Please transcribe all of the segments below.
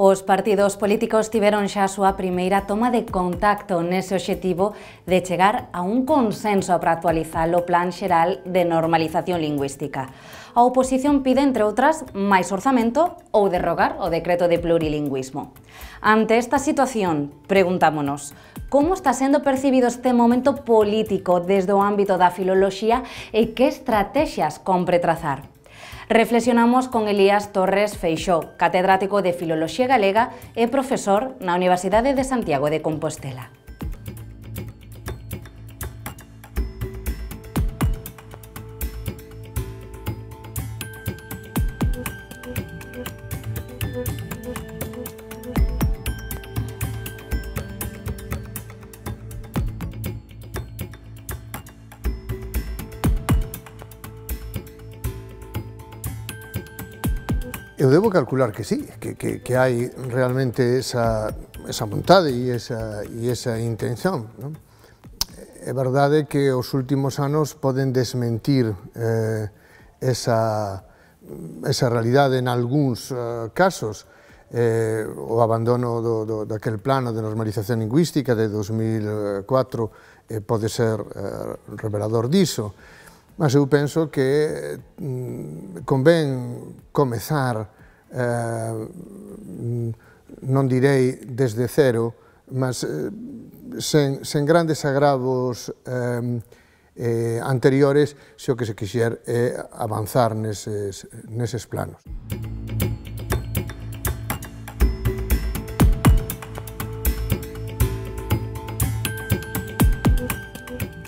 Os partidos políticos tiveron xa a súa primeira toma de contacto nese obxectivo de chegar a un consenso para actualizar o Plan Xeral de Normalización Lingüística. A oposición pide, entre outras, máis orzamento ou derrogar o decreto de plurilingüismo. Ante esta situación, preguntámonos, como está sendo percibido este momento político desde o ámbito da filoloxía e que estrategias compre trazar? Reflexionamos con Elías Torres Feixóo, catedrático de Filoloxía Galega e profesor na Universidade de Santiago de Compostela. Eu debo calcular que sí, que hai realmente esa vontade e esa intención. Non? É verdade que os últimos anos poden desmentir esa realidade en algúns casos. O abandono daquel plano de normalización lingüística de 2004 pode ser revelador diso. Mas eu penso que convén comezar, non direi desde cero, mas sen grandes agravos anteriores, se o que se quixer é avanzar neses planos.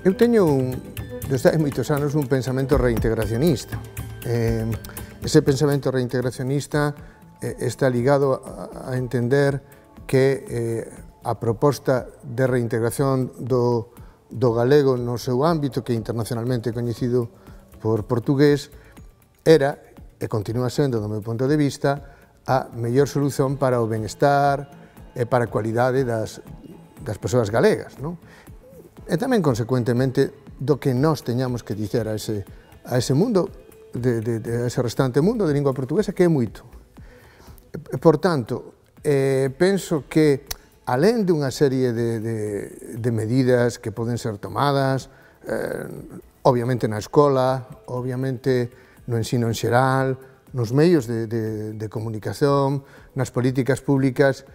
Eu teño desde hai moitos anos un pensamento reintegracionista. Ese pensamento reintegracionista está ligado a entender que a proposta de reintegración do galego no seu ámbito, que é internacionalmente coñecido por portugués, era, e continúa sendo, do meu punto de vista, a mellor solución para o benestar e para a cualidade das persoas galegas. Non? E tamén, consecuentemente, do que nós teñamos que dicer a ese mundo, a ese restante mundo de lingua portuguesa, que é moito. Por tanto, penso que, alén de unha serie de medidas que poden ser tomadas, obviamente na escola, obviamente no ensino en xeral, nos medios de comunicación, nas políticas públicas,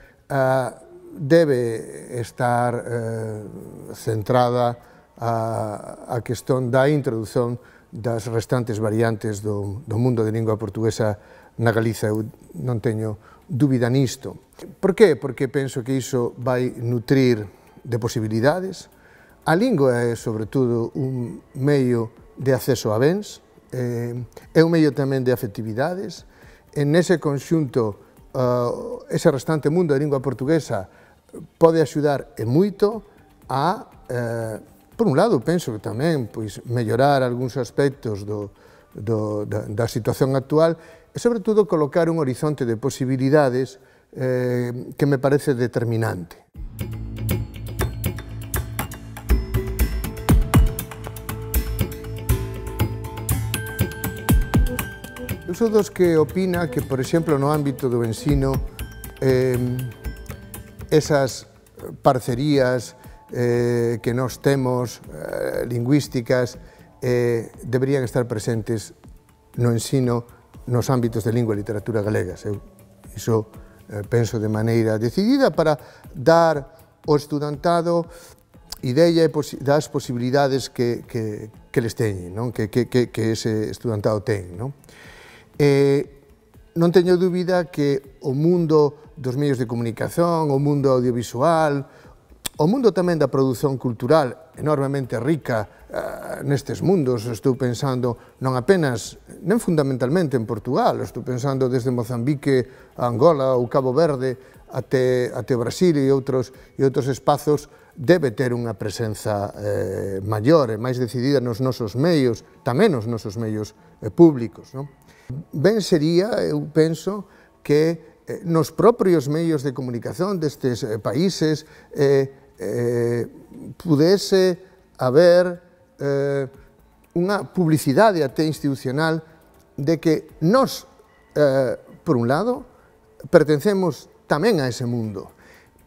debe estar centrada a questón da introdución das restantes variantes do mundo de lingua portuguesa na Galiza. Eu non teño dúbida nisto. Por qué? Porque penso que iso vai nutrir de posibilidades. A lingua é, sobre todo, un medio de acceso a bens, é un medio tamén de afectividades. En ese conxunto, ese restante mundo de lingua portuguesa pode axudar e moito a por un lado, penso que tamén mellorar algúns aspectos da situación actual e, sobre todo, colocar un horizonte de posibilidades que me parece determinante. Eu sou dos que opina que, por exemplo, no ámbito do ensino, esas parcerías que nós temos, lingüísticas, deberían estar presentes no ensino nos ámbitos de lingua e literatura galegas. Iso penso de maneira decidida para dar ao estudantado idea das posibilidades que les teñen, que ese estudantado ten. Non teño dúbida que o mundo dos medios de comunicación, o mundo audiovisual, o mundo tamén da produción cultural, enormemente rica nestes mundos, estou pensando non apenas, nem fundamentalmente en Portugal, estou pensando desde Mozambique a Angola ou Cabo Verde até Brasil e outros espazos, debe ter unha presenza maior e máis decidida nos nosos medios, tamén nos nosos medios públicos. Ben sería, eu penso, que nos propios medios de comunicación destes países pudese haber unha publicidade até institucional de que nós, por un lado, pertencemos tamén a ese mundo.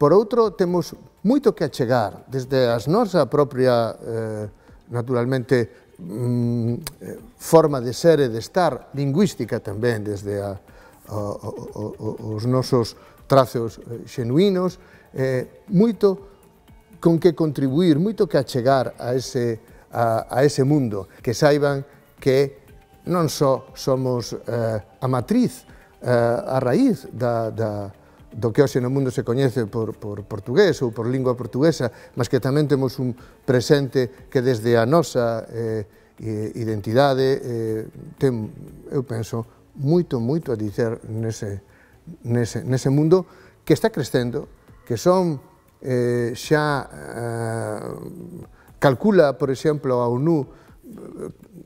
Por outro, temos moito que achegar, desde a nosa propia, naturalmente, forma de ser e de estar, lingüística tamén, desde os nosos trazos xenuínos, moito con que contribuir, moito que achegar a ese mundo, que saiban que non só somos a matriz, a raíz do que hoxe no mundo se coñece por portugués ou por lingua portuguesa, mas que tamén temos un presente que desde a nosa identidade ten, eu penso, moito a dicer nese mundo que está crecendo, que son xa calcula, por exemplo, a ONU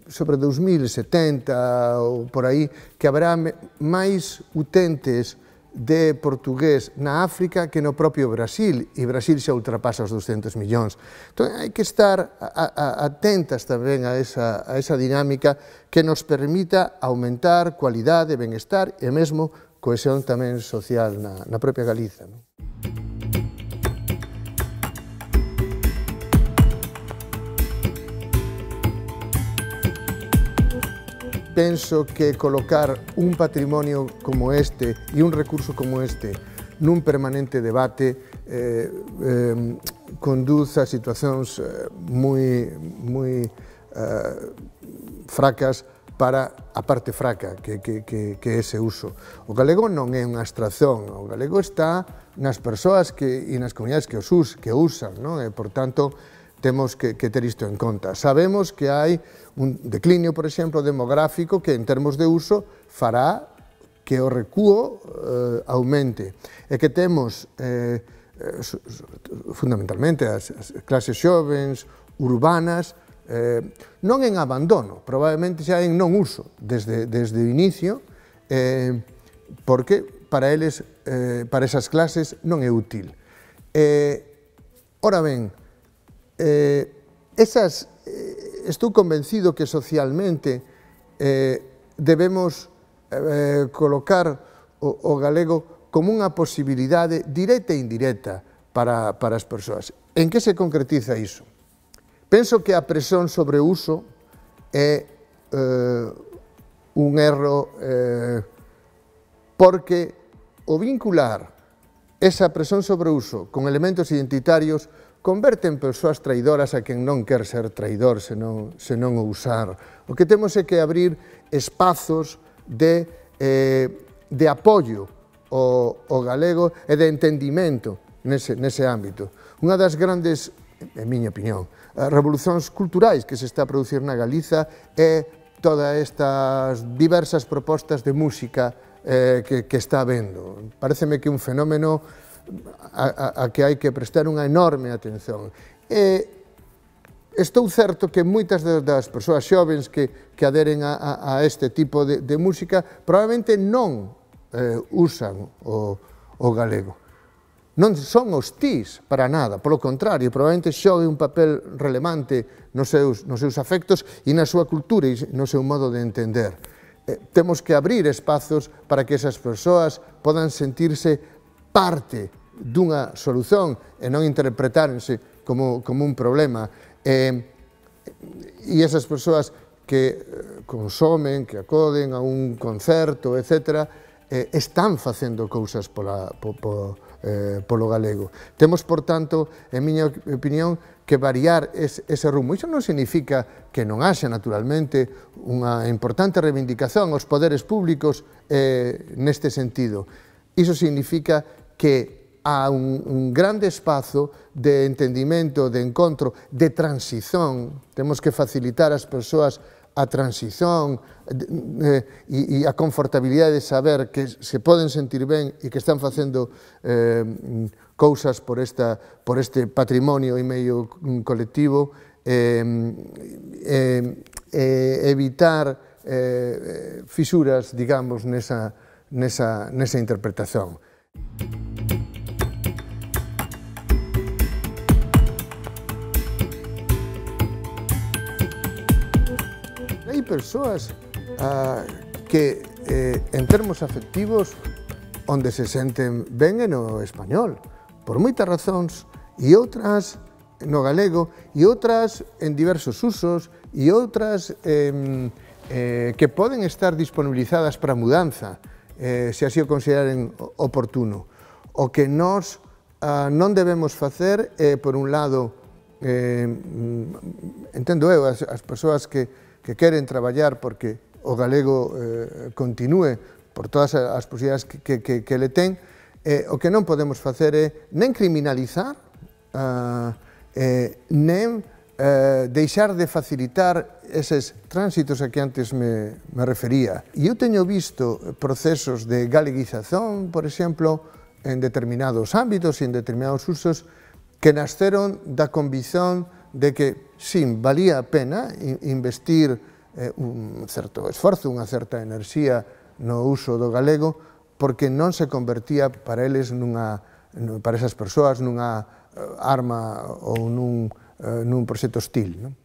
sobre 2070 ou por aí, que haberá máis utentes de portugués na África que no propio Brasil, e Brasil xa ultrapasa os 200 millóns. Entón, hai que estar atentas tamén a esa dinámica que nos permita aumentar cualidade, benestar e mesmo cohesión tamén social na propia Galiza. Penso que colocar un patrimonio como este e un recurso como este nun permanente debate conduce a situacións moi fracas para a parte fraca que é ese uso. O galego non é unha abstracción, o galego está nas persoas e nas comunidades que o usan, e, por tanto, temos que ter isto en conta. Sabemos que hai un declinio, por exemplo, demográfico que en termos de uso fará que o recuo aumente e que temos fundamentalmente as clases xovens, urbanas, non en abandono, probablemente xa en non uso desde o inicio, porque para eles, para esas clases, non é útil. Ora ben, estou convencido que socialmente debemos colocar o galego como unha posibilidade directa e indirecta para as persoas. En que se concretiza iso? Penso que a presión sobre o uso é un erro porque o vincular esa presión sobre o uso con elementos identitarios converte en persoas traidoras a quen non quer ser traidor senón o usar. O que temos é que abrir espazos de apoio ao galego e de entendimento nese ámbito. Unha das grandes, en miña opinión, revolucións culturais que se está a producir na Galiza é todas estas diversas propostas de música que está habendo. Paréceme que é un fenómeno a que hai que prestar unha enorme atención. Estou certo que moitas das persoas xovens que aderen a este tipo de música probablemente non usan o galego. Non son hostís para nada, polo contrario, probablemente xogue un papel relevante nos seus afectos e na súa cultura e no seu modo de entender. Temos que abrir espazos para que esas persoas podan sentirse parte dunha solución e non interpretárense como un problema. E esas persoas que consomen, que acoden a un concerto, etc., están facendo cousas polo galego. Temos, por tanto, en miña opinión, que variar ese rumbo. Iso non significa que non haxa, naturalmente, unha importante reivindicación aos poderes públicos neste sentido. Iso significa que há un grande espazo de entendimento, de encontro, de transición. Temos que facilitar ás persoas a transición e a confortabilidade de saber que se poden sentir ben e que están facendo cousas por este patrimonio e medio colectivo, evitar fisuras, digamos, nesa interpretación. Hai persoas que, en termos afectivos, onde se senten ben é no español, por moitas razóns, e outras no galego, e outras en diversos usos, e outras que poden estar disponibilizadas para mudanza, se así o consideren oportuno. O que nós non debemos facer é, por un lado, entendo eu, as persoas que queren traballar porque o galego continúe por todas as posibilidades que le ten, o que non podemos facer é nen criminalizar, nen deixar de facilitar eses tránsitos a que antes me refería. E eu teño visto procesos de galeguización, por exemplo, en determinados ámbitos e en determinados usos que nasceron da convicción de que, sim, valía a pena investir un certo esforzo, unha certa enerxía no uso do galego, porque non se convertía para eles para esas persoas nunha arma ou nun proxecto hostil, non?